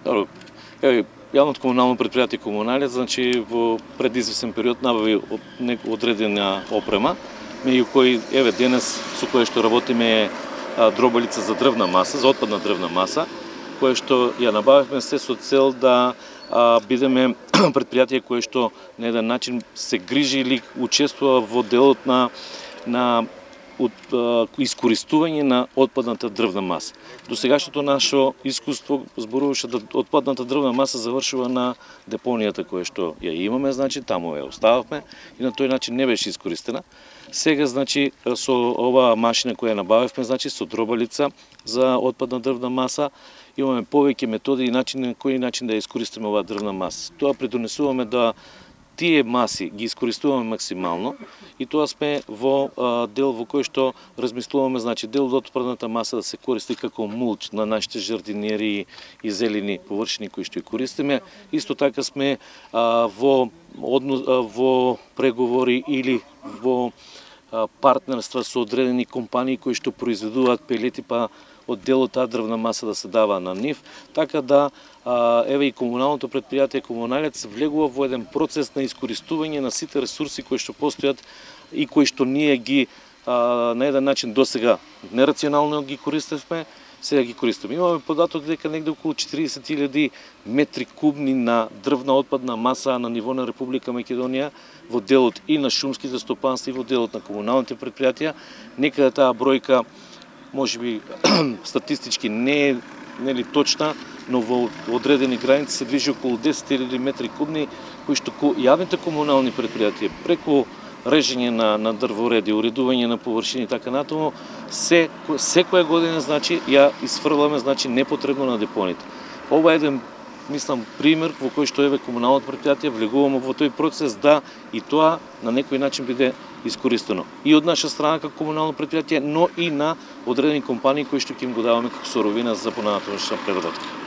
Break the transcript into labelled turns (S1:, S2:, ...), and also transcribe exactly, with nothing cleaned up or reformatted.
S1: Добро. Еве, јавното комунално предпријатие Комуналец, значи во предизвестен период набави одредена опрема, меѓу кои еве денес со кое што работиме е дробалица за дрвна маса, за отпадна дрвна маса, кое што ја набавивме се со цел да а, бидеме предпријатие кое што на еден начин се грижи или учествува во делот на на од а, искористување на отпадната дрвна маса. До сегашното наше искуство зборуваше да отпадната дрвна маса завршува на депонијата која што ја имаме, значи таму ја остававме и на тој начин не беше искористена. Сега, значи, со оваа машина која набавивме, значи со дробалица за отпадна дрвна маса, имаме повеќе методи и начини на кој начин да ја искористиме оваа дрвна маса. Тоа придонесуваме да тие маси ги искористуваме максимално и тоа сме во а, дел во кој што размислуваме, значи дел од отпадната маса да се користи како мулч на нашите жардинери и зелени површини кои што ја користиме. Исто така сме а, во однос, а, во преговори или во а, партнерства со одредени компании кои што произведуваат пелети, па од дел од таа дрвна маса да се дава на нив, така да а, еве и комуналното предпријатие Комуналец влегува во еден процес на искористување на сите ресурси кои што постојат и кои што ние ги а, на еден начин досега нерационално ги користевме, сега ги користиме. Имаме податок дека негде околу четиридесет илјади метри кубни на дрвна отпадна маса на ниво на Република Македонија во делот и на шумските стопанства и во делот на комуналните предпријатија. Некаде таа бројка можеби статистички не е нели точна, но во одредени граници се движи околу десет илјади метри кубни, кои што јавните комунални предпријатија преку режење на, на дрвореди, уредување на површини и така натаму, се, секоја година, значи, ја изфрламе, значи, непотребно на депоните. Ова е еден, мислам, пример во кој што еве комуналното предпријатие влегуваме во тој процес да и тоа на некој начин биде искористено. И од наша страна како комунално предпријатие, но и на одредени компании кои што ќе им го даваме како соровина за понатамошна преработка.